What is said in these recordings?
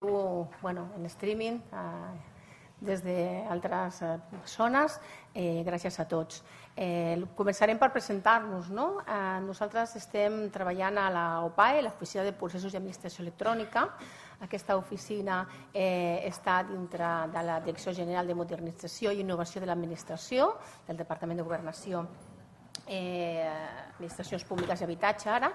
en streaming des d'altres zones. Gràcies a tots. Començarem per presentar-nos. Nosaltres estem treballant a l'OPAE, l'Oficina de Processos i Administració Electrònica. Aquesta oficina està dintre de la Direcció General de Modernització i Innovació de l'Administració, del Departament de Governació, Administracions Públiques i Habitatge ara,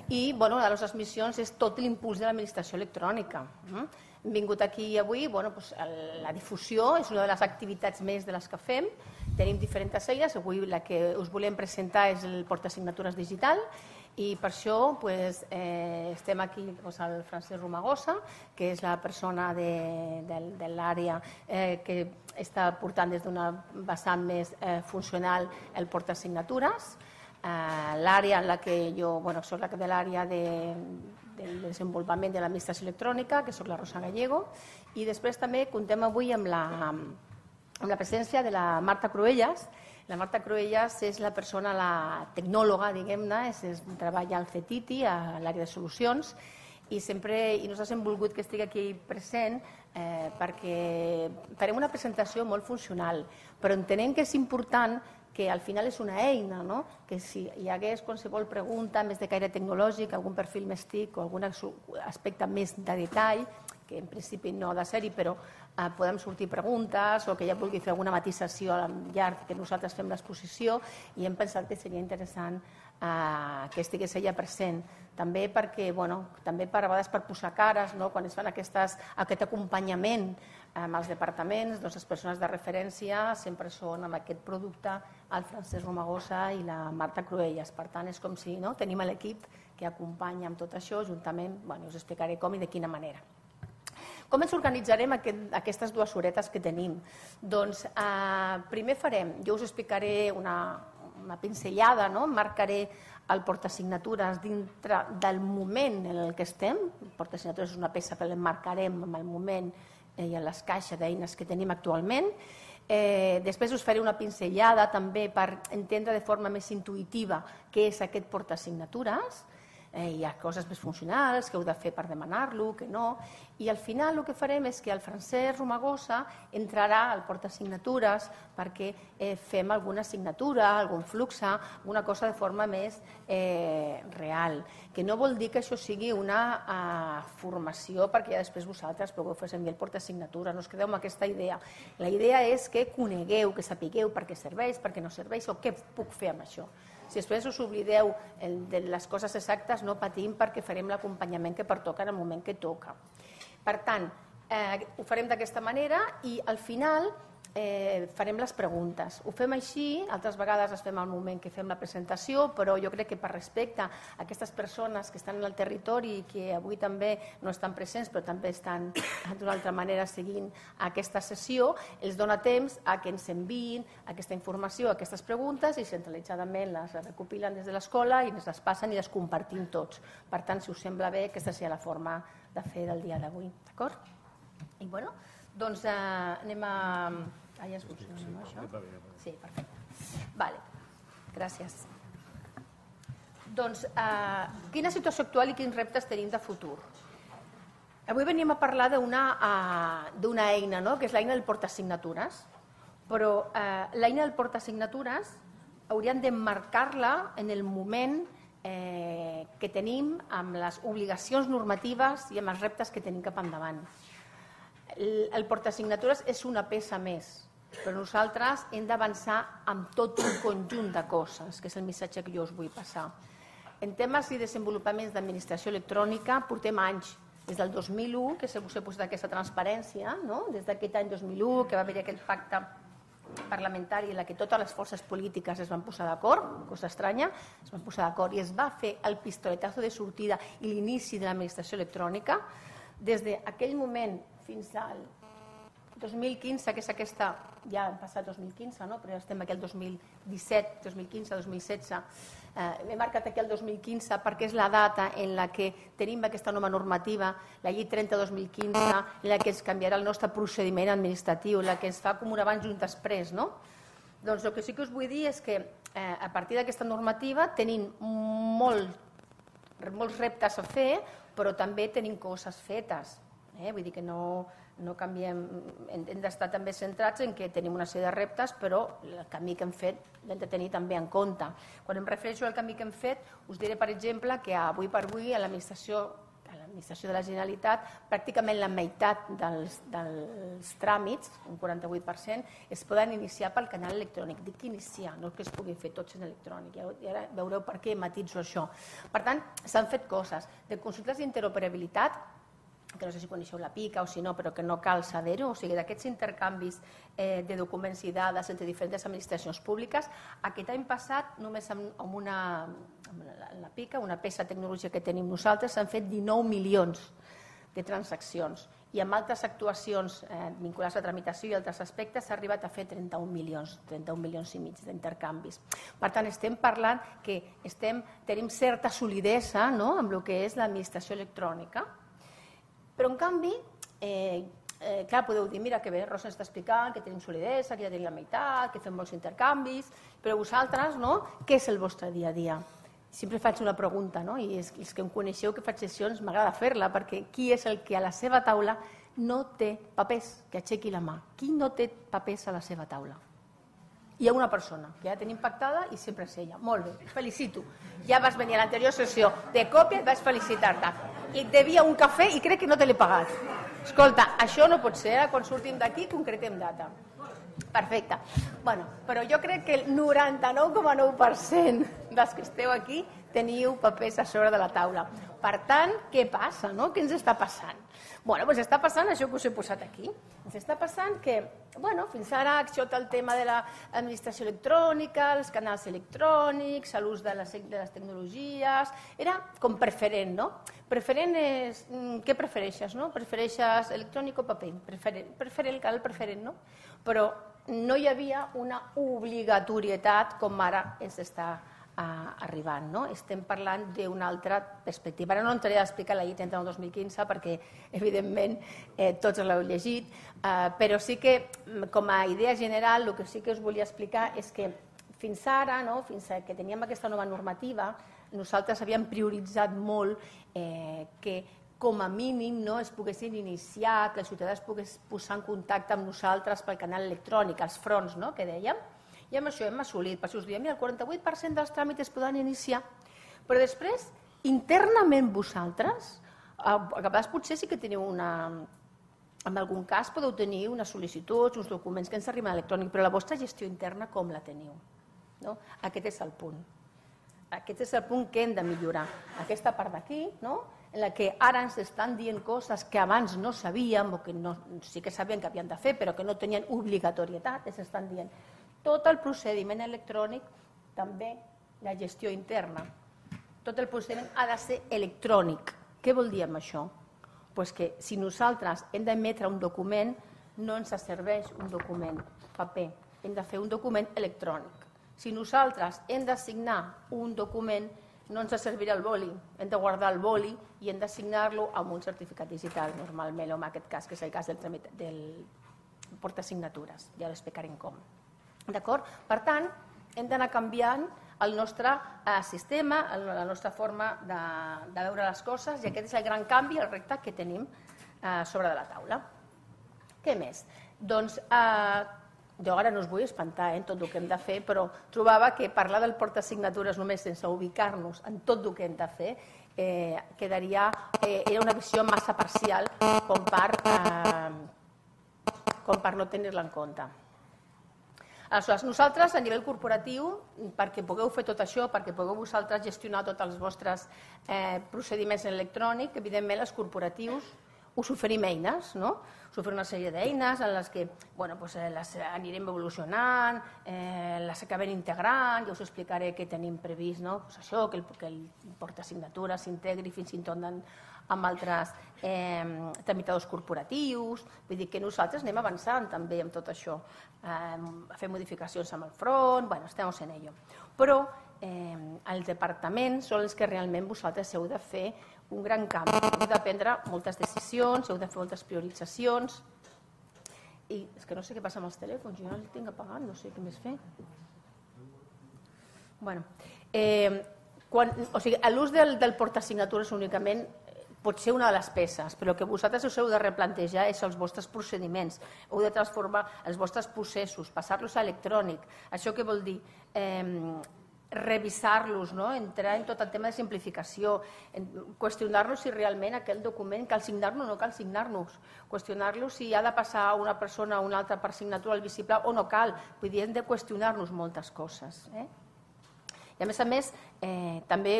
i una de les nostres missions és tot l'impuls de l'administració electrònica. Hem vingut aquí avui, la difusió és una de les activitats més de les que fem, tenim diferents eines, avui la que us volem presentar és el portasignatures digital i per això estem aquí el Francesc Romagosa, que és la persona de l'àrea que està portant des d'una vessant més funcional el portasignatures, l'àrea en la que jo soc de l'àrea del desenvolupament de l'administració electrònica, que soc la Rosa Gallego, i després també contem avui amb la presència de la Marta Cruellas. La Marta Cruellas és la persona, la tecnòloga, diguem-ne, treballa al CETITI, a l'àrea de solucions, i nosaltres hem volgut que estigui aquí present perquè farem una presentació molt funcional, però entenem que és important que al final és una eina, que si hi hagués qualsevol pregunta més de caire tecnològic, algun perfil més TIC o algun aspecte més de detall, que en principi no ha de ser-hi, però podem sortir preguntes o que ja vulgui fer alguna matisació al llarg que nosaltres fem l'exposició, i hem pensat que seria interessant que estigués ella present. També perquè, també a vegades per posar cares, quan es fan aquest acompanyament amb els departaments, les persones de referència sempre són amb aquest producte el Francesc Romagosa i la Marta Cruellas. Per tant, és com si tenim l'equip que acompanya amb tot això, juntament, us explicaré com i de quina manera. Com ens organitzarem aquestes dues horetes que tenim? Doncs primer jo us explicaré una pinzellada, marcaré el portasignatures dintre del moment en el que estem. El portasignatures és una peça que l'emmarcarem en el moment i en les caixes d'eines que tenim actualment. Després us faré una pinzellada també per entendre de forma més intuïtiva què és aquest portasignatures. Hi ha coses més funcionals que heu de fer per demanar-lo, que no, i al final el que farem és que el Francesc Romagosa entrarà al portasignatures perquè fem alguna assignatura, algun flux, alguna cosa de forma més real, que no vol dir que això sigui una formació perquè ja després vosaltres pugueu fer servir el portasignatures, no us quedeu amb aquesta idea. La idea és que conegueu, que sapigueu per què serveix, per què no serveix o què puc fer amb això. Si després us oblideu de les coses exactes, no patim perquè farem l'acompanyament que pertoca en el moment que toca. Per tant, ho farem d'aquesta manera i al final farem les preguntes. Ho fem així, altres vegades es fem al moment que fem la presentació, però jo crec que per respecte a aquestes persones que estan en el territori i que avui també no estan presents però també estan d'una altra manera seguint aquesta sessió, els dona temps a que ens enviïn aquesta informació, aquestes preguntes, i centralitzadament les recopilen des de l'escola i ens les passen i les compartim tots. Per tant, si us sembla bé, aquesta seria la forma de fer del dia d'avui. D'acord? I doncs anem a... ja es funciona, no, això? Sí, perfecte. Vale, gràcies. Doncs, quina situació actual i quins reptes tenim de futur? Avui venim a parlar d'una eina, que és l'eina del portasignatures, però l'eina del portasignatures hauríem d'emmarcar-la en el moment que tenim amb les obligacions normatives i amb els reptes que tenim cap endavant. El portasignatures és una peça més, però nosaltres hem d'avançar amb tot un conjunt de coses, que és el missatge que jo us vull passar. En temes i desenvolupaments d'administració electrònica portem anys, des del 2001, que us he posat aquesta transparència, des d'aquest any 2001, que va haver aquell pacte parlamentari en què totes les forces polítiques es van posar d'acord, cosa estranya, es van posar d'acord i es va fer el pistoletazo de sortida i l'inici de l'administració electrònica. Des d'aquell moment fins al 2015, que és aquesta, ja han passat 2015, però ja estem aquí al 2017, 2015, 2016, he marcat aquí el 2015 perquè és la data en la que tenim aquesta nova normativa, la llei 30-2015, en la que es canviarà el nostre procediment administratiu, en la que es fa com un abans i un després. Doncs el que sí que us vull dir és que a partir d'aquesta normativa tenim molts reptes a fer, però també tenim coses fetes. Vull dir que no canviem, hem d'estar també centrats en que tenim una sèrie de reptes, però el camí que hem fet l'hem de tenir també en compte. Quan em refereixo al camí que hem fet, us diré, per exemple, que avui per avui a l'administració de la Generalitat pràcticament la meitat dels tràmits, un 48%, es poden iniciar pel canal electrònic. Dic iniciar, no que es pugui fer tots en electrònic, i ara veureu per què matitzo això. Per tant, s'han fet coses de consultes d'interoperabilitat, que no sé si coneixeu la PICA o si no, però que no cal saber-ho, o sigui, d'aquests intercanvis de documents i dades entre diferents administracions públiques. Aquest any passat, només amb la PICA, una peça de tecnologia que tenim nosaltres, s'han fet 19 milions de transaccions i amb altres actuacions vinculades a tramitació i altres aspectes s'ha arribat a fer 31 milions i mig d'intercanvis. Per tant, estem parlant que tenim certa solidesa amb el que és l'administració electrònica. Però, en canvi, clar, podeu dir, mira que bé, Rosa ens està explicant que tenim solidesa, que ja tenim la meitat, que fem molts intercanvis, però vosaltres, què és el vostre dia a dia? Sempre faig una pregunta, i els que em coneixeu que faig sessions m'agrada fer-la, perquè qui és el que a la seva taula no té papers? Que aixequi la mà. Qui no té papers a la seva taula? Hi ha una persona que ja tenim pactada i sempre és ella. Molt bé, felicito. Ja vas venir a l'anterior sessió de còpia i vaig felicitar-te. I et devia un cafè i crec que no te l'he pagat. Escolta, això no pot ser, quan sortim d'aquí concretem data. Perfecte. Però jo crec que el 99,9% dels que esteu aquí teniu papers a sobre de la taula. Per tant, què passa? Què ens està passant? Doncs està passant això que us he posat aquí. Ens està passant que, fins ara tot el tema de l'administració electrònica, els canals electrònics, l'ús de les tecnologies, era com preferent, no? Preferent és... Què prefereixes, no? Prefereixes electrònic o paper? Preferent, cal el preferent, no? Però no hi havia una obligatorietat com ara ens està arribant. Estem parlant d'una altra perspectiva. Ara no entraré a explicar la llei 39/2015 perquè, evidentment, tots l'heu llegit, però sí que, com a idea general, el que sí que us volia explicar és que fins ara, fins que teníem aquesta nova normativa, nosaltres havíem prioritzat molt que, com a mínim, es poguessin iniciar, que la ciutadania es pogués posar en contacte amb nosaltres pel canal electrònic, els fronts, que dèiem. I amb això hem assolit. Per això us diem, el 48% dels tràmits es poden iniciar. Però després, internament vosaltres, a vegades potser sí que teniu en algun cas podeu tenir unes sol·licituds, uns documents que ens arriben a electrònic, però la vostra gestió interna com la teniu? Aquest és el punt. Aquest és el punt que hem de millorar. Aquesta part d'aquí, en la que ara ens estan dient coses que abans no sabíem, o que sí que sabien que havien de fer, però que no tenien obligatorietat, ens estan dient tot el procediment electrònic, també la gestió interna. Tot el procediment ha de ser electrònic. Què vol dir amb això? Doncs que si nosaltres hem d'emetre un document, no ens serveix un document paper, hem de fer un document electrònic. Si nosaltres hem de signar un document, no ens servirà el boli, hem de guardar el boli i hem de signar-lo amb un certificat digital, normalment, o en aquest cas, que és el cas del portasignatures. Ja l'explicarem com. D'acord? Per tant, hem d'anar canviant el nostre sistema, la nostra forma de veure les coses, i aquest és el gran canvi, el repte que tenim sobre de la taula. Què més? Doncs jo ara no us vull espantar en tot el que hem de fer, però trobava que parlar del portasignatures només sense ubicar-nos en tot el que hem de fer era una visió massa parcial com per no tenir-la en compte. Aleshores, nosaltres, a nivell corporatiu, perquè pugueu fer tot això, perquè pugueu vosaltres gestionar tots els vostres procediments electrònics, evidentment, els corporatius us oferim eines, us oferim una sèrie d'eines en les que les anirem evolucionant, les acabem integrant, ja us explicaré què tenim previst, això, que el portasignatures s'integri fins i tot amb altres tramitadors corporatius, vull dir que nosaltres anem avançant també amb tot això, a fer modificacions amb el front, estem en ello. Però els departaments són els que realment vosaltres heu de fer un gran canvi, heu de prendre moltes decisions, heu de fer moltes prioritzacions, i és que no sé què passa amb els telèfons, jo no els tinc apagat, no sé què més fer. L'ús del portasignatures únicament pot ser una de les peces, però el que vosaltres us heu de replantejar és els vostres procediments, heu de transformar els vostres processos, passar-los a electrònic. Això què vol dir? Revisar-los, entrar en tot el tema de simplificació, qüestionar-nos si realment aquell document cal signar-nos o no cal signar-nos, qüestionar-los si ha de passar una persona a una altra per signatura al vistiplau o no cal. Vull dir, hem de qüestionar-nos moltes coses. I a més, també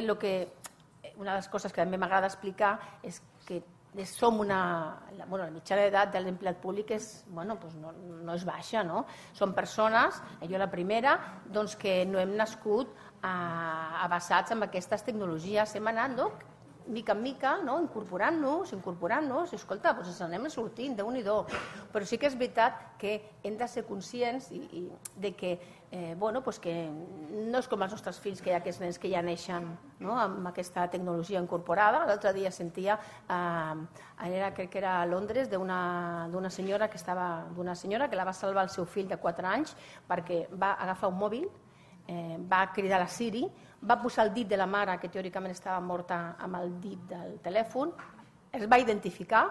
una de les coses que també m'agrada explicar és que som la mitjana d'edat de l'empleat públic no és baixa, no? Som persones, jo la primera, que no hem nascut avasats amb aquestes tecnologies, hem anat mica en mica, incorporant-nos, i escolta, ens anem sortint, Déu-n'hi-do. Però sí que és veritat que hem de ser conscients de que no és com els nostres fills, que hi ha aquests nens que ja neixen amb aquesta tecnologia incorporada. L'altre dia sentia, crec que era a Londres, d'una senyora que la va salvar el seu fill de 4 anys perquè va agafar un mòbil, va cridar a la Siri, va posar el dit de la mare, que teòricament estava morta, amb el dit del telèfon, es va identificar,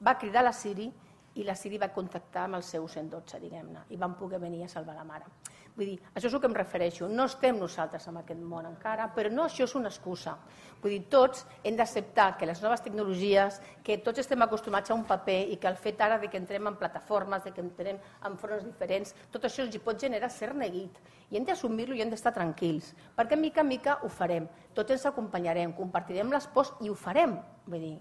va cridar a la Siri i la Siri va contactar amb el seu 112, diguem-ne, i van poder venir a salvar la mare. Vull dir, això és el que em refereixo. No estem nosaltres en aquest món encara, però no, això és una excusa. Vull dir, tots hem d'acceptar que les noves tecnologies, que tots estem acostumats a un paper i que el fet ara que entrem en plataformes, que entrem en fronts diferents, tot això ens hi pot generar cert neguit. I hem d'assumir-lo i hem d'estar tranquils, perquè mica en mica ho farem. Tots ens acompanyarem, compartirem les pors i ho farem. Vull dir,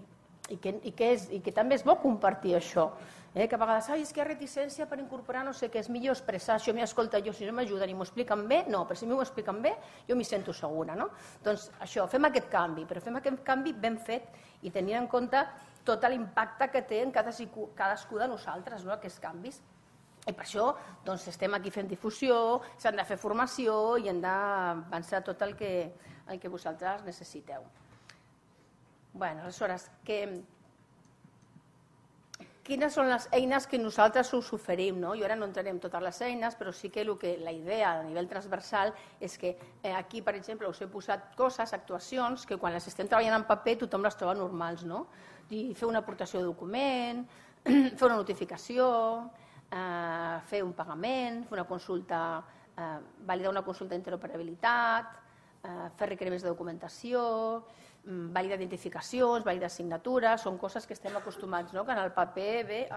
i que també és bo compartir això. Que a vegades, és que hi ha reticència per incorporar no sé què, és millor expressar això, escolta, si no m'ajuden i m'ho expliquen bé, no, però si m'ho expliquen bé, jo m'hi sento segura, no? Doncs això, fem aquest canvi, però fem aquest canvi ben fet i tenint en compte tot l'impacte que té en cadascú de nosaltres, aquests canvis. I per això estem aquí fent difusió, s'han de fer formació i hem d'avançar tot el que vosaltres necessiteu. Bé, aleshores, quines són les eines que nosaltres us oferim? Jo ara no entraré en totes les eines, però sí que la idea a nivell transversal és que aquí, per exemple, us he posat coses, actuacions, que quan les estem treballant en paper tothom les troba normals. Fer una aportació de document, fer una notificació, fer un pagament, fer una consulta, validar una consulta d'interoperabilitat, fer requeriments de documentació, validar identificacions, validar signatures, són coses que estem acostumats, que en el paper ve,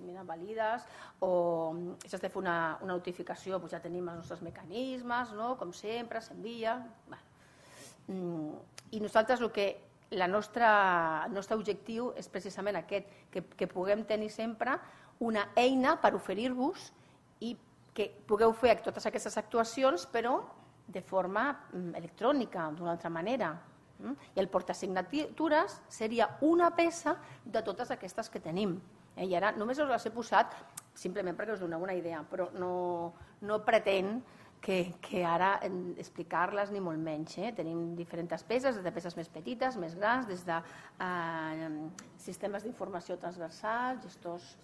mira, valides, o si has de fer una notificació, ja tenim els nostres mecanismes, com sempre, s'envia. I nosaltres el nostre objectiu és precisament aquest, que puguem tenir sempre una eina per oferir-vos i que pugueu fer totes aquestes actuacions, però de forma electrònica, d'una altra manera. I el portasignatures seria una peça de totes aquestes que tenim. I ara només us les he posat simplement perquè us doneu una idea, però no pretén que ara explicar-les ni molt menys. Tenim diferents peces, des de peces més petites, més grans, des de sistemes d'informació transversals, gestors,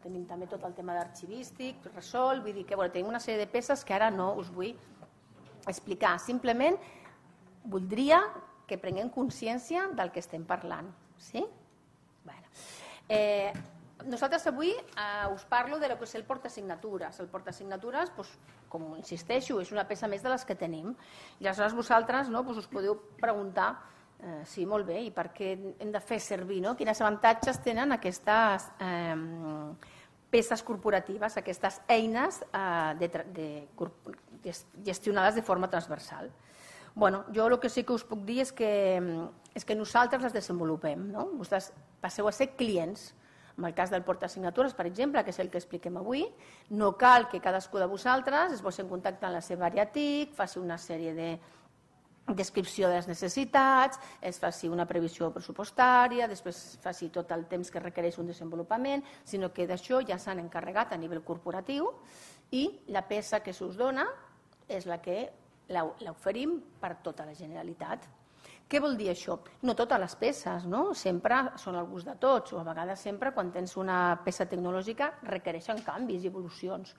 tenim també tot el tema d'arxivístic, resol, vull dir que tenim una sèrie de peces que ara no us vull explicar. Simplement voldria que prenguem consciència del que estem parlant. Sí? Nosaltres avui us parlo de lo que és el portasignatures. El portasignatures, com insisteixo, és una peça més de les que tenim. I aleshores vosaltres us podeu preguntar, sí, molt bé, i per què hem de fer servir, quins avantatges tenen aquestes peces corporatives, aquestes eines gestionades de forma transversal. Jo el que sí que us puc dir és que nosaltres les desenvolupem. Vosaltres passeu a ser clients. En el cas del portasignatures, per exemple, que és el que expliquem avui, no cal que cadascú de vosaltres es posi en contacte amb la seva àrea TIC, faci una sèrie de descripció de les necessitats, es faci una previsió pressupostària, després faci tot el temps que requereix un desenvolupament, sinó que d'això ja s'han encarregat a nivell corporatiu i la peça que s'us dona és la que l'oferim per tota la Generalitat. Què vol dir això? No totes les peces, sempre són al gust de tots, o a vegades sempre quan tens una peça tecnològica requereixen canvis i evolucions.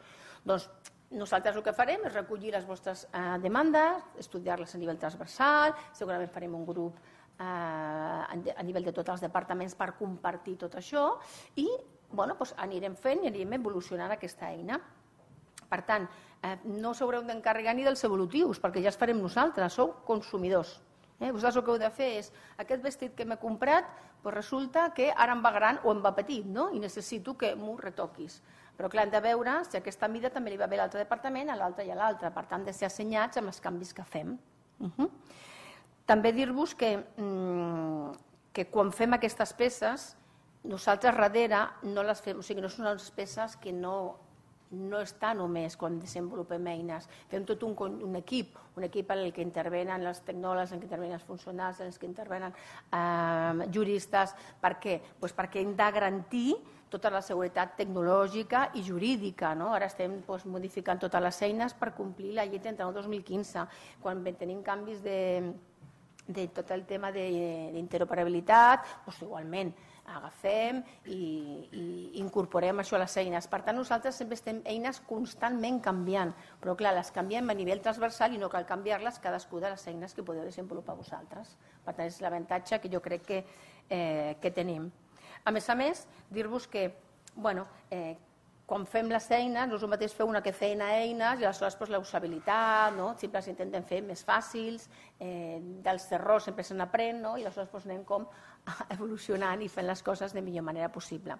Doncs nosaltres el que farem és recollir les vostres demandes, estudiar-les a nivell transversal, segurament farem un grup a nivell de tots els departaments per compartir tot això i anirem fent i anirem evolucionant aquesta eina. Per tant, no s'haureu d'encarregar ni dels evolutius, perquè ja els farem nosaltres, sou consumidors. Vosaltres el que heu de fer és, aquest vestit que m'he comprat, resulta que ara em va gran o em va petit, i necessito que m'ho retoquis. Però clar, hem de veure si aquesta mida també li va bé a l'altre departament, a l'altre i a l'altre. Per tant, de ser assenyats amb els canvis que fem. També dir-vos que quan fem aquestes peces, nosaltres darrere no les fem, o sigui, no són unes peces que no està només quan desenvolupem eines. Fem tot un equip en el que intervenen els tecnòlegs, en el que intervenen els funcionals, en el que intervenen juristes. Per què? Perquè hem de garantir tota la seguretat tecnològica i jurídica. Ara estem modificant totes les eines per complir la llei 39/2015. Quan tenim canvis de tot el tema d'interoperabilitat, igualment agafem i incorporem això a les eines. Per tant, nosaltres sempre estem eines constantment canviant, però clar, les canviem a nivell transversal i no cal canviar-les cadascú de les eines que podeu desenvolupar vosaltres. Per tant, és l'avantatge que jo crec que tenim. A més, dir-vos que quan fem les eines, no és el mateix fer una que feina eines i aleshores la usabilitat, sempre les intentem fer més fàcils, dels errors sempre se n'aprèn i aleshores anem com evolucionant i fent les coses de millor manera possible.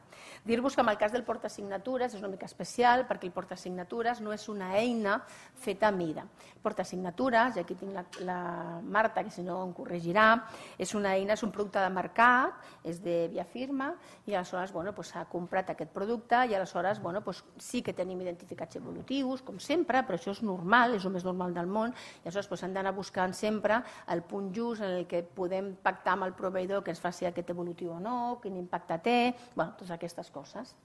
Dir-vos que en el cas del portasignatures és una mica especial perquè el portasignatures no és una eina feta a mida. El portasignatures, i aquí tinc la Marta, que si no em corregirà, és una eina, és un producte de mercat, és de Via Firma i aleshores s'ha comprat aquest producte i aleshores sí que tenim identificats evolutius, com sempre, però això és normal, és el més normal del món i aleshores hem d'anar buscant sempre el punt just en el que podem pactar amb el proveïdor que ens faci aquest evolutiu o no, quin impacte té, totes aquestes coses.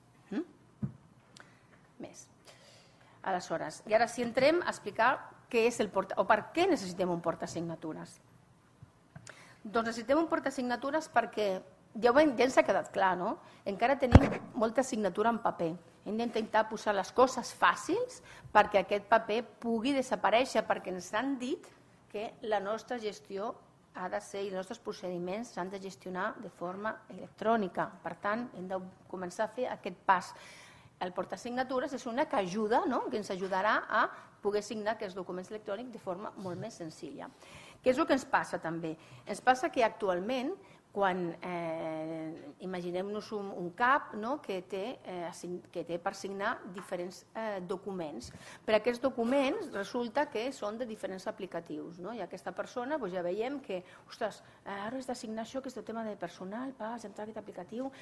Més. Aleshores, i ara si entrem a explicar què és el o per què necessitem un portasignatures. Doncs necessitem un portasignatures perquè ja ens ha quedat clar, no? Encara tenim molta signatura en paper. Hem d'intentar posar les coses fàcils perquè aquest paper pugui desaparèixer, perquè ens han dit que la nostra gestió ha de ser i els nostres procediments s'han de gestionar de forma electrònica. Per tant, hem de començar a fer aquest pas. El portasignatures és una que ajuda, que ens ajudarà a poder signar aquests documents electrònics de forma molt més senzilla. Què és el que ens passa també? Ens passa que actualment, quan imaginem-nos un CAP que té per signar diferents documents. Per aquests documents resulta que són de diferents aplicatius. I aquesta persona ja veiem que, ostres, ara has de signar això que és del tema de personal, has d'entrar a aquest aplicatiu,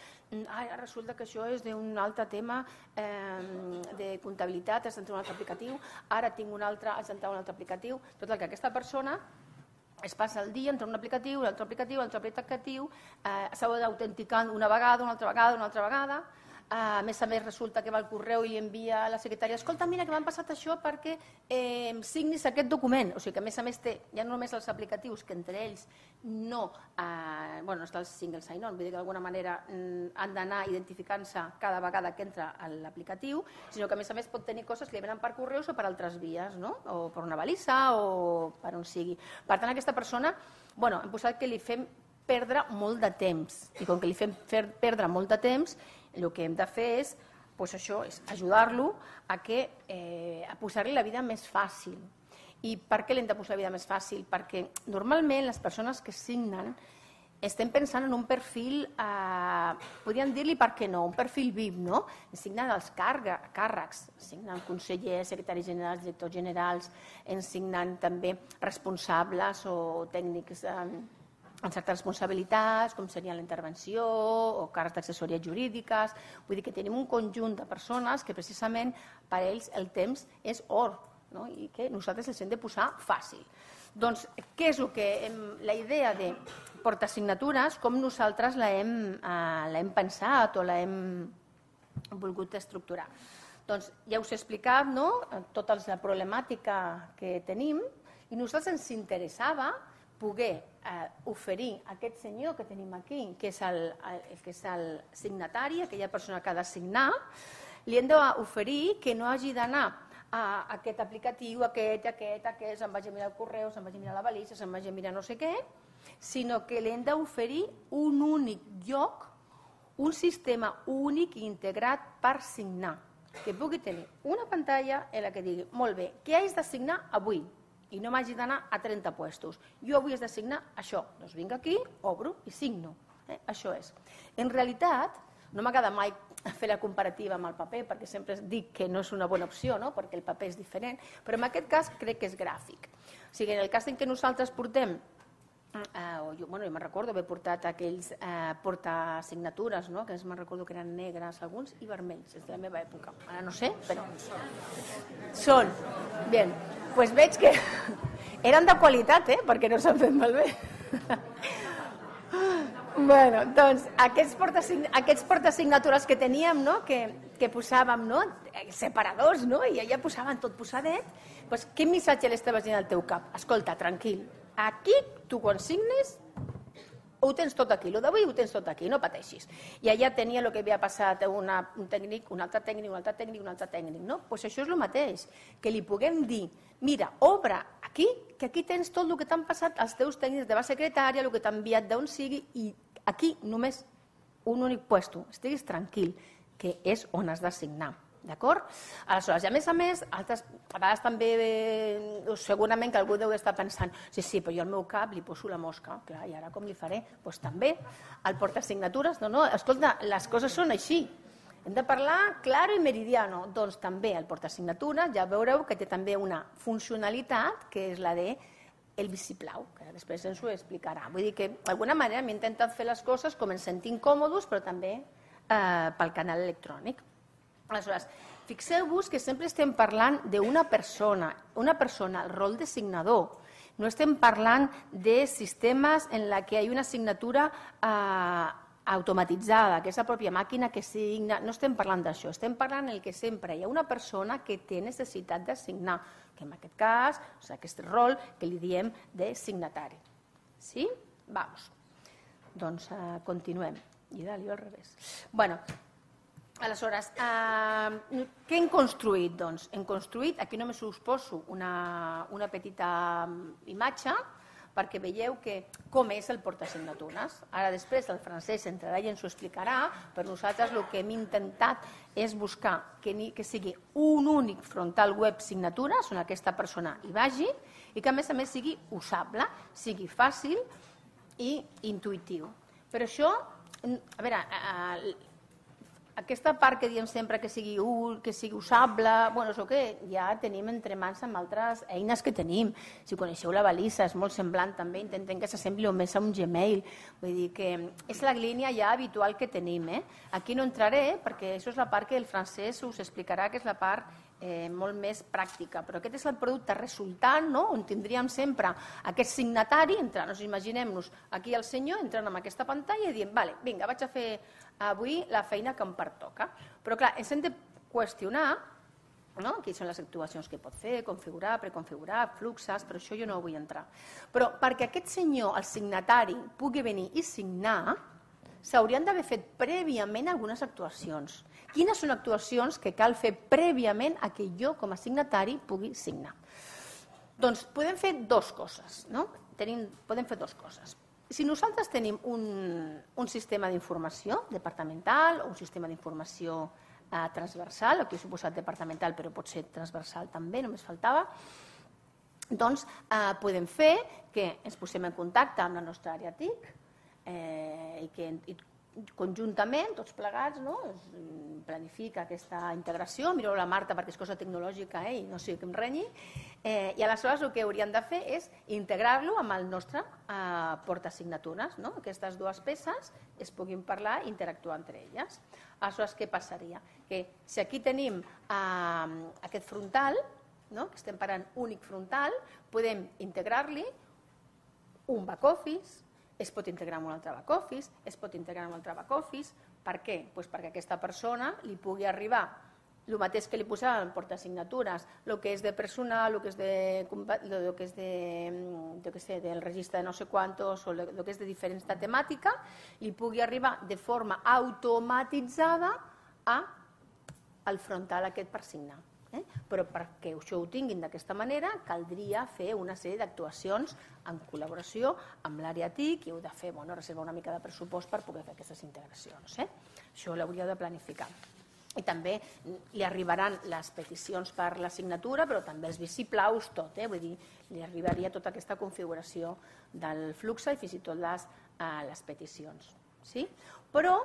ara resulta que això és d'un altre tema de comptabilitat, has d'entrar a un altre aplicatiu, ara tinc un altre, has d'entrar a un altre aplicatiu. Tot el que aquesta persona es passa el dia entre un aplicatiu, l'altre aplicatiu, s'ha d'autenticar una vegada, una altra vegada. A més resulta que va al correu i li envia a la secretària, escolta, mira que m'han passat això perquè signis aquest document. O sigui que a més té ja no només els aplicatius, que entre ells no està el single sign-on, vull dir que d'alguna manera han d'anar identificant-se cada vegada que entra a l'aplicatiu, sinó que a més pot tenir coses que li venen per correus o per altres vies, o per una balissa o per on sigui. Per tant, aquesta persona, hem posat que li fem perdre molt de temps i com que li fem perdre molt de temps, el que hem de fer és ajudar-lo a posar-li la vida més fàcil. I per què l'hem de posar la vida més fàcil? Perquè normalment les persones que signen estem pensant en un perfil, podríem dir-li per què no, un perfil VIP, no? Ens signen els càrrecs, signen consellers, secretaris generals, directors generals, ens signen també responsables o tècnics amb certes responsabilitats, com seria la intervenció o càrrecs d'assessories jurídiques. Vull dir que tenim un conjunt de persones que precisament per ells el temps és or i que nosaltres els hem de posar fàcil. Doncs què és la idea de portasignatures, com nosaltres l'hem pensat o l'hem volgut estructurar? Doncs ja us he explicat tota la problemàtica que tenim i a nosaltres ens interessava poder oferir a aquest senyor que tenim aquí, que és el signatari, aquella persona que ha de signar, li hem d'oferir que no hagi d'anar a aquest aplicatiu, aquest, se'n vagi a mirar el correu, se'n vagi a mirar la balissa, se'n vagi a mirar no sé què, sinó que li hem d'oferir un únic lloc, un sistema únic i integrat per signar, que pugui tenir una pantalla en la que digui, molt bé, què haig de signar avui? I no m'hagi d'anar a 30 puestos. Jo avui he de signar això. Doncs vinc aquí, obro i signo. Això és. En realitat, no m'agrada mai fer la comparativa amb el paper, perquè sempre dic que no és una bona opció, no? Perquè el paper és diferent, però en aquest cas crec que és gràfic. O sigui, en el cas en què nosaltres portem, jo me'n recordo haver portat aquells portasignatures, que me'n recordo que eren negres alguns i vermells, és de la meva època. Ara no sé, però són. Bé, doncs veig que eren de qualitat, perquè no s'han fet malbé. Bueno, doncs aquests portasignatures que teníem, que posàvem separadors, i allà posaven tot posadet, doncs quin missatge l'estaves dient al teu cap? Escolta, tranquil, aquí tu quan signes ho tens tot aquí, el d'avui ho tens tot aquí, no pateixis. I allà tenia el que havia passat un tècnic, un altre tècnic, un altre tècnic, un altre tècnic. Doncs això és el mateix, que li puguem dir, mira, obre aquí, que aquí tens tot el que t'han passat els teus tècnics de la secretària, el que t'ha enviat d'on sigui, i aquí només un únic puesto, estiguis tranquil, que és on has de signar. D'acord? Aleshores, i a més, a vegades també, segurament que algú deu estar pensant, sí, però jo al meu cap li poso la mosca, clar, i ara com li faré? Doncs també, el portasignatures, no, escolta, les coses són així, hem de parlar claro i meridiano, doncs també el portasignatures, ja veureu que té també una funcionalitat, que és la de el vistiplau, que després ens ho explicarà. Vull dir que, d'alguna manera, m'he intentat fer les coses com ens sentim còmodes, però també pel canal electrònic. Aleshores, fixeu-vos que sempre estem parlant d'una persona, el rol de signador. No estem parlant de sistemes en la que hi ha una signatura automatitzada, que és la pròpia màquina que signa. No estem parlant d'això, estem parlant en què sempre hi ha una persona que té necessitat de signar, que en aquest cas, aquest rol que li diem de signatari. Sí? Vamos. Doncs continuem. I dalt, jo al revés. Bueno, aleshores, què hem construït? Doncs hem construït, aquí només us poso una petita imatge perquè veieu com és el portasignatures. Ara després el Francesc entrarà i ens ho explicarà, però nosaltres el que hem intentat és buscar que sigui un únic frontal web signatures on aquesta persona hi vagi i que a més sigui usable, sigui fàcil i intuïtiu. Per això, a veure, aquesta part que diem sempre que sigui usable, bueno, és el que ja tenim entre mans amb altres eines que tenim. Si coneixeu la balisa, és molt semblant també, intentem que s'assembli més a un Gmail. Vull dir que és la línia ja habitual que tenim. Aquí no entraré perquè això és la part que el Francesc us explicarà, que és la part molt més pràctica, però aquest és el producte resultant, on tindríem sempre aquest signatari, imaginem-nos aquí el senyor entrant en aquesta pantalla i dient, vale, vinga, vaig a fer avui la feina que em pertoca. Però clar, ens hem de qüestionar quines són les actuacions que pot fer, configurar, preconfigurar, fluxes, però això jo no vull entrar. Però perquè aquest senyor, el signatari, pugui venir i signar, s'haurien d'haver fet prèviament algunes actuacions. Quines són actuacions que cal fer prèviament a que jo, com a signatari, pugui signar? Doncs podem fer dues coses. Podem fer dues coses. Si nosaltres tenim un sistema d'informació departamental o un sistema d'informació transversal, aquí he suposat departamental però pot ser transversal també, només faltava, doncs podem fer que ens posem en contacte amb la nostra àrea TIC i que conjuntament, tots plegats, planifica aquesta integració, mireu la Marta perquè és cosa tecnològica i no sé què em renyi, i aleshores el que hauríem de fer és integrar-lo amb el nostre portasignatures, que aquestes dues peces es puguin parlar i interactuar entre elles. Aleshores, què passaria? Que si aquí tenim aquest frontal, que estem parlant únic frontal, podem integrar-li un back-office, es pot integrar amb un altre back-office, es pot integrar amb un altre back-office. Per què? Perquè a aquesta persona li pugui arribar el mateix que li posava en portasignatures, el que és de personal, el que és del registre de no sé quantos, o el que és de diferents de temàtica, li pugui arribar de forma automatitzada al frontal aquest per signar. Però perquè això ho tinguin d'aquesta manera caldria fer una sèrie d'actuacions en col·laboració amb l'àrea TIC i heu de fer, reservar una mica de pressupost per poder fer aquestes integracions. Això l'hauríeu de planificar. I també li arribaran les peticions per la signatura, però també els vistiplaus, tot, vull dir, li arribaria tota aquesta configuració del flux i fins i tot les peticions. Però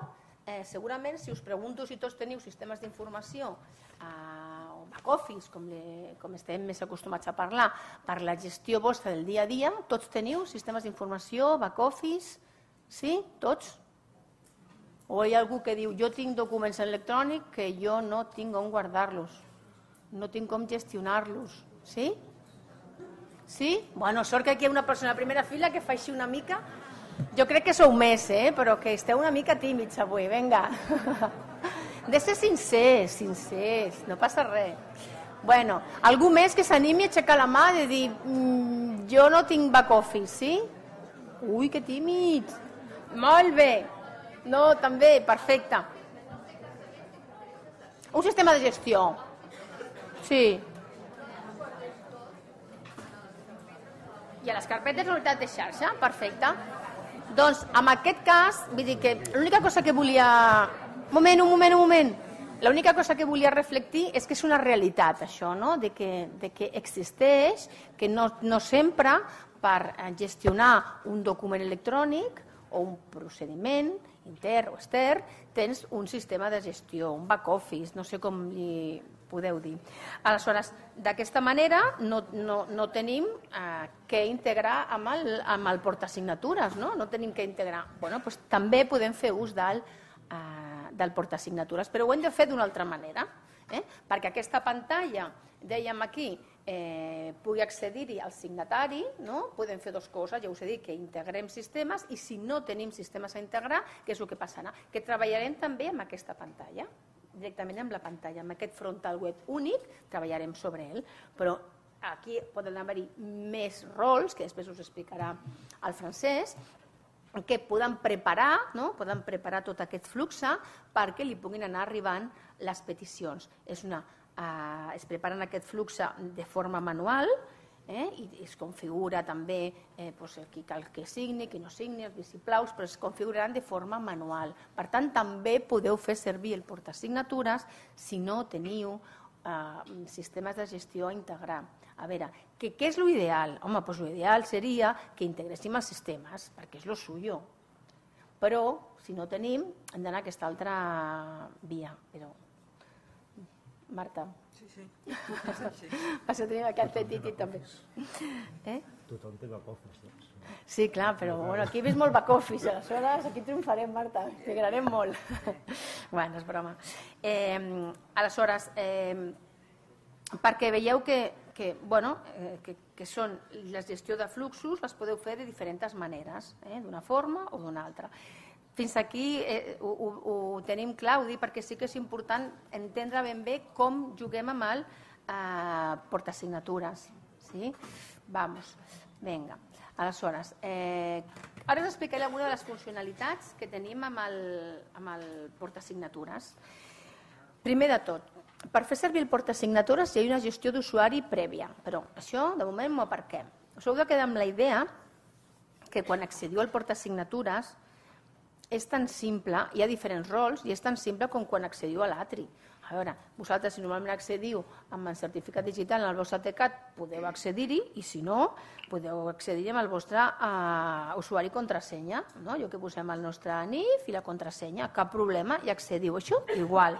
segurament si us pregunto si tots teniu sistemes d'informació o back-office, com estem més acostumats a parlar, per la gestió vostra del dia a dia, tots teniu sistemes d'informació, back-office, sí? Tots? O hi ha algú que diu, jo tinc documents electrònics que jo no tinc on guardar-los, no tinc com gestionar-los, sí? Sí? Bueno, sort que aquí hi ha una persona a la primera fila que fa així una mica. Jo crec que sou més, però que esteu una mica tímids avui, vinga. De ser sincers, no passa res. Bueno, algú més que s'animi a aixecar la mà i dir jo no tinc back-office, sí? Ui, que tímid. Molt bé. No, també, perfecte. Un sistema de gestió. Sí. I a les carpetes de unitat de xarxa, perfecte. Doncs, en aquest cas, vull dir que l'única cosa que volia... Un moment. L'única cosa que volia reflectir és que és una realitat, això, no? De que existeix, que no sempre per gestionar un document electrònic o un procediment intern o extern tens un sistema de gestió, un back-office, no sé com li podeu dir. Aleshores, d'aquesta manera no tenim què integrar amb el portasignatures, no? No tenim què integrar. Doncs també podem fer ús del portasignatures, però ho hem de fer d'una altra manera, perquè aquesta pantalla, dèiem aquí, pugui accedir-hi al signatari, podem fer dues coses, ja us he dit que integrem sistemes i si no tenim sistemes a integrar, què és el que passarà? Que treballarem també amb aquesta pantalla, directament amb la pantalla, amb aquest frontal web únic, treballarem sobre ell, però aquí poden haver-hi més rols, que després us explicarà el Francesc, que poden preparar tot aquest flux perquè li puguin anar arribant les peticions. Es preparen aquest flux de forma manual i es configura també qui cal que signi, qui no signi, els vistiplaus, però es configuraran de forma manual. Per tant, també podeu fer servir el portasignatures si no teniu sistemes de gestió a integrar. A veure, què és l'ideal? Home, doncs l'ideal seria que integréssim els sistemes, perquè és lo suyo. Però, si no tenim, hem d'anar a aquesta altra via. Però, Marta. Sí. Això tenim aquí el Petit també. Tothom té back-office, doncs. Sí, clar, però aquí he vist molt back-office, aleshores aquí triomfarem, Marta, integrarem molt. Bueno, és broma. Aleshores, perquè veieu que són la gestió de fluxos, les podeu fer de diferents maneres, d'una forma o d'una altra. Fins aquí ho tenim clar, ho dic perquè sí que és important entendre ben bé com juguem amb el portasignatures. Vamos, vinga. Aleshores, ara us explicaré alguna de les funcionalitats que tenim amb el portasignatures. Primer de tot, per fer servir el portasignatures hi ha una gestió d'usuari prèvia, però això de moment m'ho aparquem. Us heu de quedar amb la idea que quan accediu al portasignatures és tan simple, hi ha diferents rols, i és tan simple com quan accediu a l'Atri. A veure, vosaltres si normalment accediu amb el certificat digital en el vostre TCAT podeu accedir-hi i si no podeu accedir-hi amb el vostre usuari i contrasenya. Jo que posem el nostre NIF i la contrasenya, cap problema, i accediu. Això igual.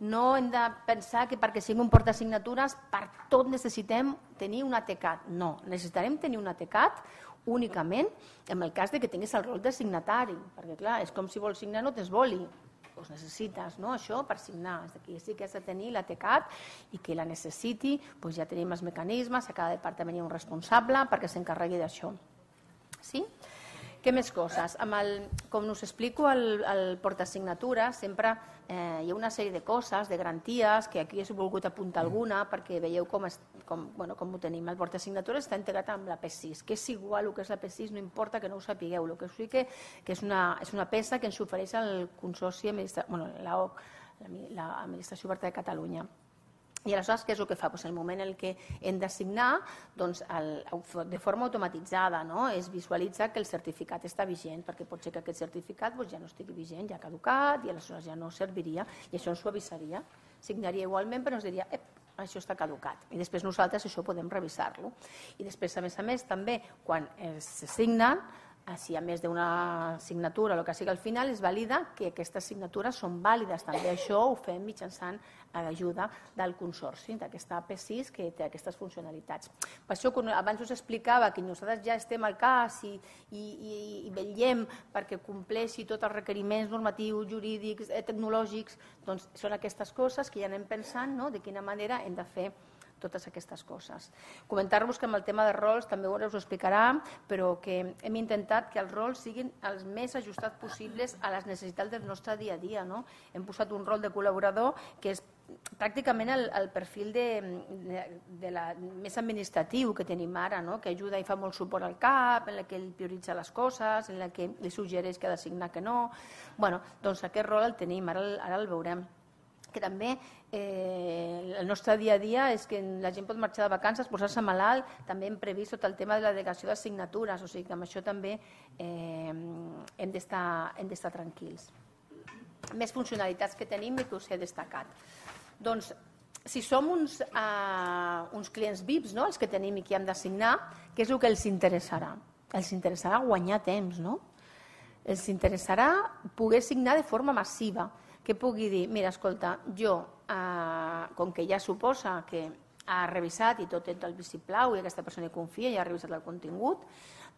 No hem de pensar que perquè sigui un portasignatures per tot necessitem tenir un ATCAT. No, necessitarem tenir un ATCAT únicament en el cas que tinguis el rol de signatari, perquè clar, és com si vols signar no tens boli, doncs necessites això per signar, aquí sí que has de tenir l'ATCAT i que la necessiti, ja tenim els mecanismes, a cada departament hi ha un responsable perquè s'encarregui d'això. Sí? Què més coses? Com us explico al portasignatures, sempre hi ha una sèrie de coses, de garanties, que aquí he volgut apuntar alguna perquè veieu com ho tenim. El portasignatures està integrat amb la P6, que és igual el que és la P6, no importa que no ho sapigueu. El que us dic que és una peça que ens ofereix el Consorci, l'AOC, l'Administració Oberta de Catalunya. I aleshores què és el que fa? En el moment en què hem de signar, de forma automatitzada es visualitza que el certificat està vigent, perquè pot ser que aquest certificat ja no estigui vigent, ja ha caducat i aleshores ja no serviria i això ens ho avisaria. Signaria igualment però ens diria això està caducat i després nosaltres això podem revisar-lo. I després, a més, també quan se signen, si a més d'una signatura o el que sigui al final, es valida que aquestes signatures són vàlides. També això ho fem mitjançant l'ajuda del consorci, d'aquesta AP6 que té aquestes funcionalitats. Per això, abans us explicava que nosaltres ja estem al cas i vetllem perquè compleixi tots els requeriments normatius, jurídics, tecnològics, doncs són aquestes coses que ja anem pensant de quina manera hem de fer totes aquestes coses. Comentar-vos que amb el tema de rols també us ho explicarà, però que hem intentat que els rols siguin els més ajustats possibles a les necessitats del nostre dia a dia. Hem posat un rol de col·laborador que és pràcticament el perfil més administratiu que tenim ara, que ajuda i fa molt suport al CAP, en què ell prioritza les coses, en què li suggereix que ha de signar que no. Doncs aquest rol el tenim, ara el veurem. Que també el nostre dia a dia és que la gent pot marxar de vacances, posar-se malalt, també hem previst tot el tema de la delegació de signatures, o sigui que amb això també hem d'estar tranquils. Més funcionalitats que tenim i que us he destacat. Doncs, si som uns clients VIPs, els que tenim i que hem de signar, què és el que els interessarà? Els interessarà guanyar temps, no? Els interessarà poder signar de forma massiva, que pugui dir, mira, escolta, jo, com que ja suposa que ha revisat i tot el vistiplau i aquesta persona hi confia i ha revisat el contingut,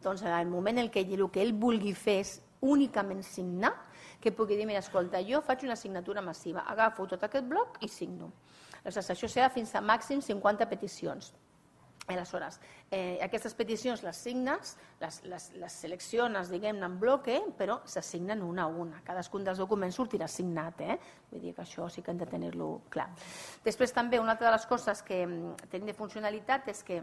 doncs en el moment en què el que ell vulgui fer és únicament signar, que pugui dir, mira, escolta, jo faig una signatura massiva, agafo tot aquest bloc i signo. Aleshores, això serà fins a màxim 50 peticions. Aleshores, aquestes peticions les signes, les selecciones, diguem-ne, en bloque, però s'assignen una a una. Cadascun dels documents sortirà signat, vull dir que això sí que hem de tenir-lo clar. Després també una altra de les coses que tenim de funcionalitat és que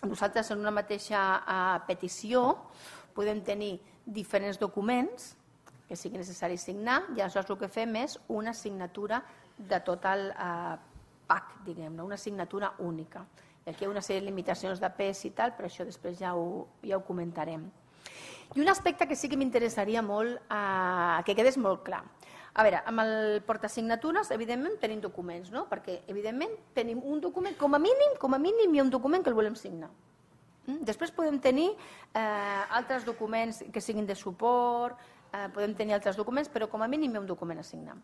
nosaltres en una mateixa petició podem tenir diferents documents que sigui necessari signar i aleshores el que fem és una signatura de tot el PAC, diguem-ne, una signatura única. Aquí hi ha una sèrie de limitacions de pes i tal, però això després ja ho comentarem. I un aspecte que sí que m'interessaria molt que quedés molt clar. A veure, amb el portasignatures, evidentment, tenim documents, no? Perquè, evidentment, tenim un document, com a mínim hi ha un document que el volem signar. Després podem tenir altres documents que siguin de suport, podem tenir altres documents, però com a mínim hi ha un document a signar.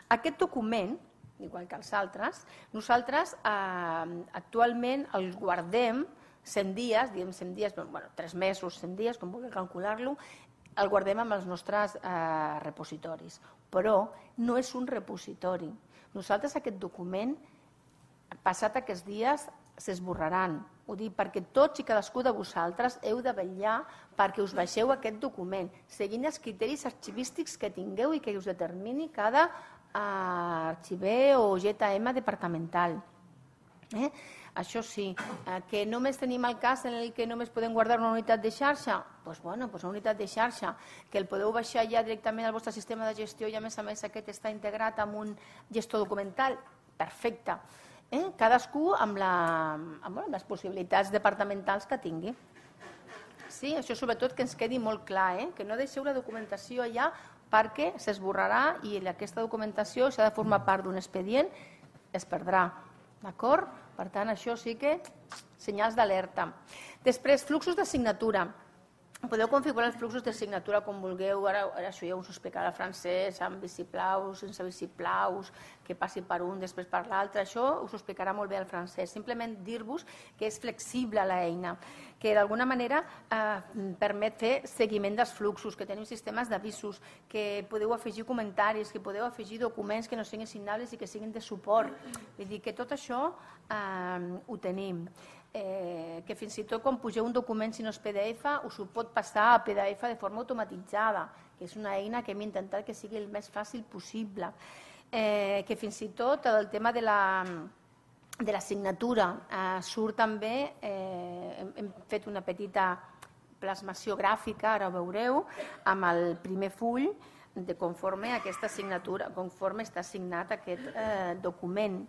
Aquest document, igual que els altres, nosaltres actualment els guardem 100 dies, diguem 100 dies, 3 mesos, 100 dies, com vulgui calcular-lo, el guardem amb els nostres repositoris. Però no és un repositori. Nosaltres aquest document, passat aquests dies, s'esborraran. Ho dic perquè tots i cadascú de vosaltres heu de vetllar perquè us baixeu aquest document, seguint els criteris arxivístics que tingueu i que us determini cada arxiver o GTM departamental. Això sí, que només tenim el cas en què només podem guardar una unitat de xarxa, doncs una unitat de xarxa, que el podeu baixar ja directament al vostre sistema de gestió i a més aquest està integrat amb un gestor documental, perfecte. Cadascú amb les possibilitats departamentals que tingui. Sí, això sobretot que ens quedi molt clar, que no deixeu la documentació allà perquè s'esborrarà i aquesta documentació, si ha de formar part d'un expedient, es perdrà. D'acord? Per tant, això sí que senyals d'alerta. Després, fluxos de signatura. Podeu configurar els fluxos de signatura com vulgueu, ara això ja us ho explicarà el francès, amb vistiplaus, sense vistiplaus, que passi per un, després per l'altre, això us ho explicarà molt bé el francès. Simplement dir-vos que és flexible l'eina, que d'alguna manera permet fer seguiment dels fluxos, que tenim sistemes d'avisos, que podeu afegir comentaris, que podeu afegir documents que no siguin signables i que siguin de suport. Vull dir que tot això ho tenim. Que fins i tot quan pugeu un document, si no és PDF, us ho pot passar a PDF de forma automatitzada, que és una eina que hem intentat que sigui el més fàcil possible. Que fins i tot el tema de la signatura surt també, hem fet una petita plasmació gràfica, ara ho veureu, amb el primer full de conforme aquesta signatura, conforme està signat aquest document.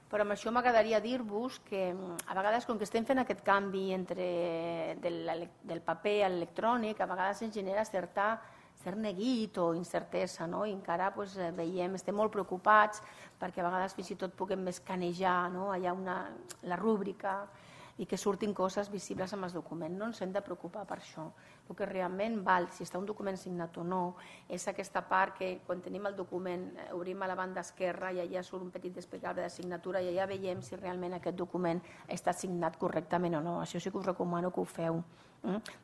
però amb això m'agradaria dir-vos que a vegades, com que estem fent aquest canvi del paper a l'electrònic, a vegades ens genera cert neguit o incertesa, no? I encara veiem, estem molt preocupats perquè a vegades fins i tot puguem escanejar allà la rúbrica i que surtin coses visibles amb el document. No ens hem de preocupar per això. El que realment val, si està un document signat o no, és aquesta part que quan tenim el document obrim a la banda esquerra i allà surt un petit desplegable de signatura i allà veiem si realment aquest document està signat correctament o no. Això sí que us recomano que ho feu.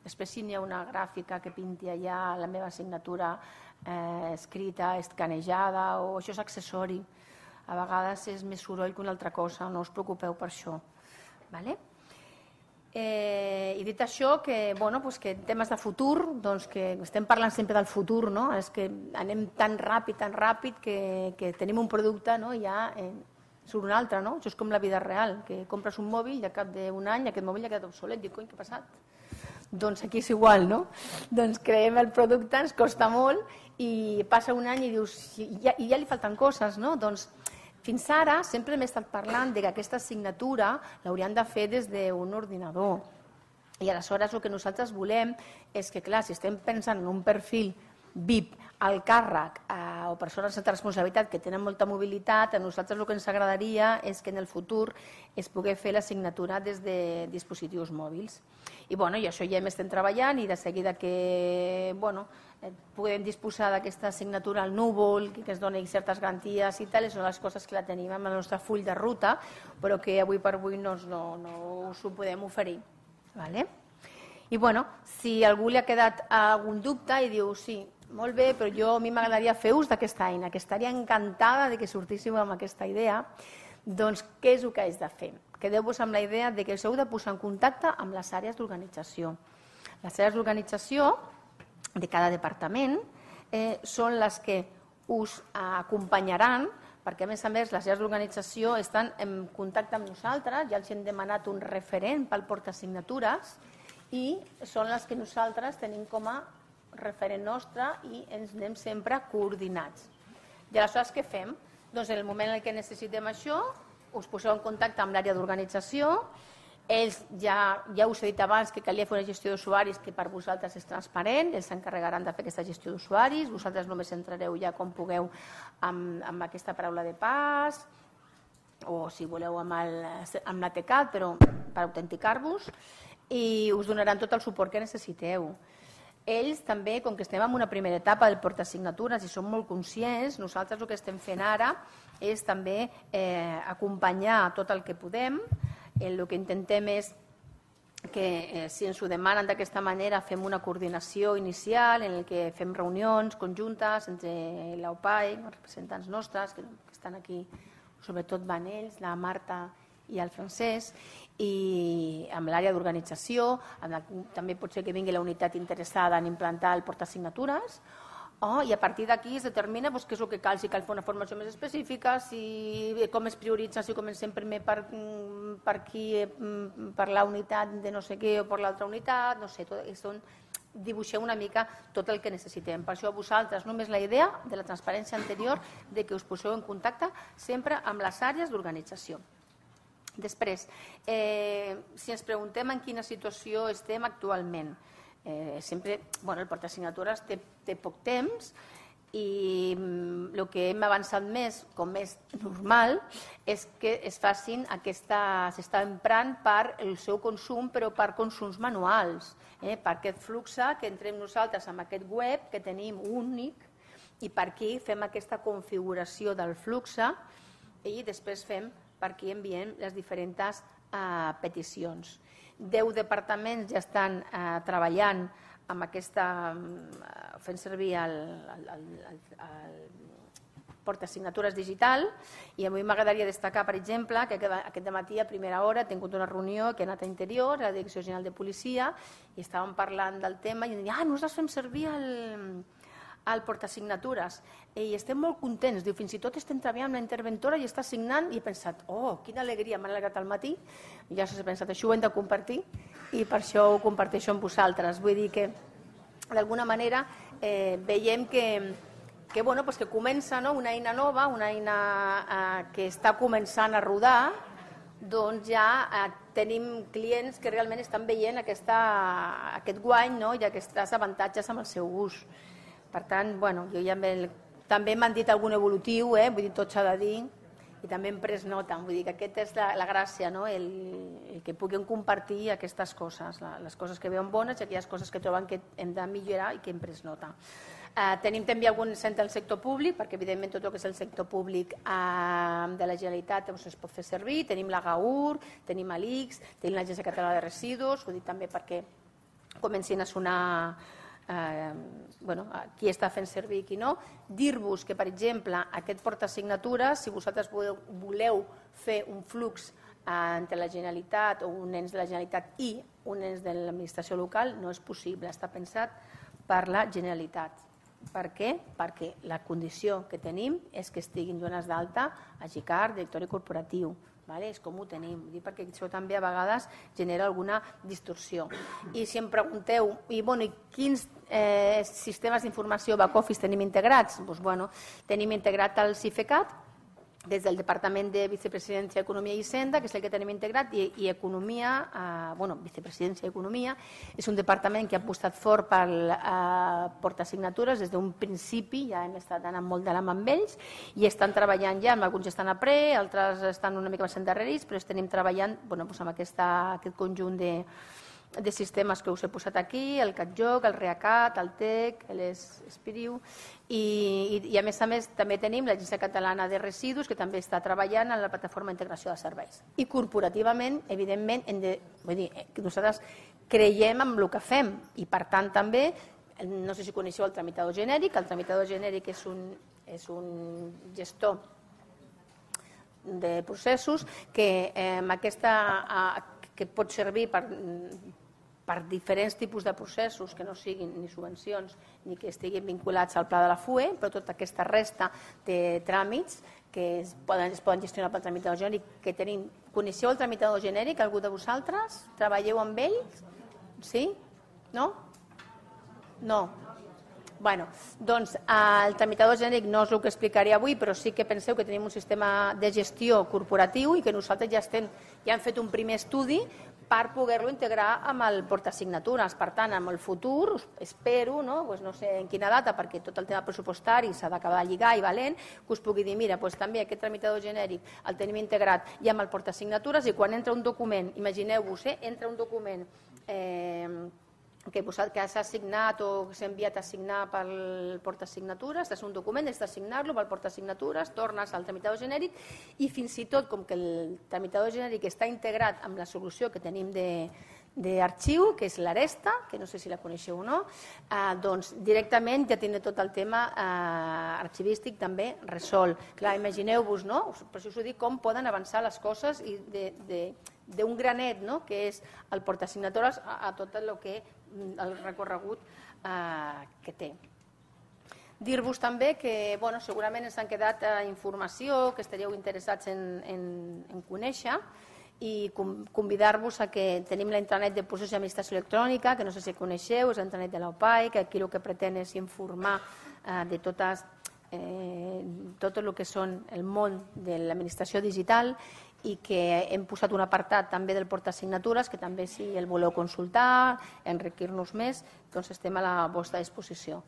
Després, si n'hi ha una gràfica que pinti allà la meva signatura escrita, escanejada, o això és accessori. A vegades és més soroll que una altra cosa, no us preocupeu per això. I dit això, que en temes de futur, que estem parlant sempre del futur, és que anem tan ràpid que tenim un producte i ja surt un altre. Això és com la vida real, que compres un mòbil i al cap d'un any aquest mòbil ja ha quedat obsolet. Dic, coi, què ha passat? Doncs aquí és igual, no? Doncs creem el producte, ens costa molt i passa un any i dius, i ja li falten coses, no? Doncs fins ara sempre m'he estat parlant que aquesta signatura l'hauríem de fer des d'un ordinador. I aleshores el que nosaltres volem és que, clar, si estem pensant en un perfil VIP, al càrrec o persones de responsabilitat que tenen molta mobilitat, a nosaltres el que ens agradaria és que en el futur es pugui fer la signatura des de dispositius mòbils. I això ja estem treballant i de seguida que podem disposar d'aquesta signatura al núvol, que ens doni certes garanties i tal, són les coses que la tenim en el nostre full de ruta, però que avui per avui no us ho podem oferir. I si a algú li ha quedat algun dubte i diu, sí, molt bé, però a mi m'agradaria fer ús d'aquesta eina, que estaria encantada que sortíssiu amb aquesta idea, doncs què és el que haig de fer? Quedeu-vos amb la idea que us heu de posar en contacte amb les àrees d'organització. Les àrees d'organització de cada departament són les que us acompanyaran, perquè a més les àrees d'organització estan en contacte amb nosaltres, ja els hem demanat un referent pel portasignatures i són les que nosaltres tenim com a referent nostre i ens anem sempre coordinats. I aleshores què fem? Doncs en el moment en què necessitem això, us poseu en contacte amb l'àrea d'organització, ells ja us he dit abans que calia fer una gestió d'usuaris que per vosaltres és transparent, ells s'encarregaran de fer aquesta gestió d'usuaris, vosaltres només entrareu ja com pugueu amb aquesta paraula de pas o si voleu amb l'ATCAD, però per autenticar-vos, i us donaran tot el suport que necessiteu. Ells també, com que estem en una primera etapa del portasignatures i som molt conscients, nosaltres el que estem fent ara és també acompanyar tot el que podem. El que intentem és que si ens ho demanen d'aquesta manera fem una coordinació inicial en què fem reunions conjuntes entre l'OPAE, els representants nostres que estan aquí, sobretot van ells, la Marta i el Francesc, i amb l'àrea d'organització, també pot ser que vingui la unitat interessada en implantar el portasignatures, i a partir d'aquí es determina què és el que cal, si cal fer una formació més específica, com es prioritza, si comencem primer per aquí, per la unitat de no sé què o per l'altra unitat, no sé, dibuixeu una mica tot el que necessitem. Per això a vosaltres només la idea de la transparència anterior de que us poseu en contacte sempre amb les àrees d'organització. Després, si ens preguntem en quina situació estem actualment, sempre, el portasignatures té poc temps i el que hem avançat més, com és normal, és que es facin s'està emprant per el seu consum, però per consums manuals, per aquest flux que entrem nosaltres amb aquest web que tenim únic i per aquí fem aquesta configuració del flux i després fem per aquí enviem les diferents peticions. 10 departaments ja estan treballant amb fent servir el portasignatures digital i a mi m'agradaria destacar, per exemple, que aquest dematí a primera hora he tingut una reunió que he anat a Interior, a la Direcció General de Policia, i estàvem parlant del tema i diuen, nosaltres fem servir el portasignatures i estem molt contents, diu, fins i tot estem treballant amb la interventora i està signant i he pensat, quina alegria, m'ha alegrat al matí i ja s'ha pensat, això ho hem de compartir i per això ho comparteixo amb vosaltres, vull dir que d'alguna manera veiem que que comença una eina nova, una eina que està començant a rodar, doncs ja tenim clients que realment estan veient aquest guany i aquests avantatges amb el seu ús. Per tant, jo ja també m'han dit algun evolutiu, vull dir, tot s'ha de dir, i també hem pres nota. Vull dir que aquesta és la gràcia, el que puguem compartir aquestes coses, les coses que veuen bones i aquelles coses que troben que hem de millorar i que hem pres nota. Tenim també algun centre del sector públic, perquè evidentment tot el que és el sector públic de la Generalitat es pot fer servir. Tenim la GAUR, tenim l'ICS, tenim l'Agència Catalana de Residus, ho dic també perquè comencin a sonar qui està fent servir i qui no. Dir-vos que, per exemple, aquest portasignatures, si vosaltres voleu fer un flux entre la Generalitat o un ens de la Generalitat i un ens de l'administració local, no és possible, està pensat per la Generalitat. Per què? Perquè la condició que tenim és que estiguin dones d'alta a GICAR, directori corporatiu. És com ho tenim, perquè això també a vegades genera alguna distorsió. I si em pregunteu, i quins sistemes d'informació back-office tenim integrats? Tenim integrat el CIFECAT, des del Departament de Vicepresidència, Economia i Hisenda, que és el que tenim integrat, i Economia, Vicepresidència i Economia, és un departament que ha apostat fort per portasignatures des d'un principi, ja hem estat anant molt de la mà amb ells, i estan treballant ja, alguns estan a pre, altres estan una mica més endarrerits, però estem treballant amb aquest conjunt de sistemes que us he posat aquí, el CatJoc, el ReaCat, el TEC, l'Espiriu, i a més també tenim l'Agència Catalana de Residus, que també està treballant en la plataforma d'integració de serveis. I corporativament, evidentment, nosaltres creiem en el que fem i, per tant, també, no sé si coneixeu el tramitador genèric. El tramitador genèric és un gestor de processos que pot servir per diferents tipus de processos que no siguin ni subvencions ni que estiguin vinculats al pla de la FUE, però tota aquesta resta de tràmits que es poden gestionar pel tramitador genèric que tenim. Coneixeu el tramitador genèric, algú de vosaltres? Treballeu amb ell? Sí? No? No. Doncs el tramitador genèric no és el que explicaré avui, però sí que penseu que tenim un sistema de gestió corporatiu i que nosaltres ja hem fet un primer estudi per poder-lo integrar amb el portasignatures. Per tant, en el futur, espero, no sé en quina data, perquè tot el tema pressupostari s'ha d'acabar de lligar i valent, que us pugui dir, mira, també aquest tramitador genèric el tenim integrat i amb el portasignatures, i quan entra un document, imagineu-vos, entra un document que s'ha signat o s'ha enviat a signar pel portasignatures, és un document, has de signar-lo pel portasignatures, tornes al tramitador genèric i fins i tot, com que el tramitador genèric està integrat amb la solució que tenim d'arxiu, que és l'Aresta, que no sé si la coneixeu o no, doncs directament ja tindré tot el tema arxivístic també resolt. Clar, imagineu-vos, no? Per això us ho dic, com poden avançar les coses i d'un granet, que és el portasignatures, a tot el recorregut que té. Dir-vos també que segurament ens han quedat informació que estaríeu interessats en conèixer, i convidar-vos a que tenim la intranet de processos d'administració electrònica, que no sé si coneixeu, és la intranet de l'OPAI, que aquí el que pretén és informar de tot el que són el món de l'administració digital, i que hem posat un apartat també del portasignatures, que també si el voleu consultar, enriquir-nos més, doncs estem a la vostra disposició.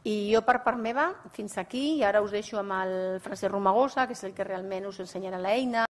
I jo per part meva, fins aquí, i ara us deixo amb el Francesc Romagosa, que és el que realment us ensenyarà l'eina.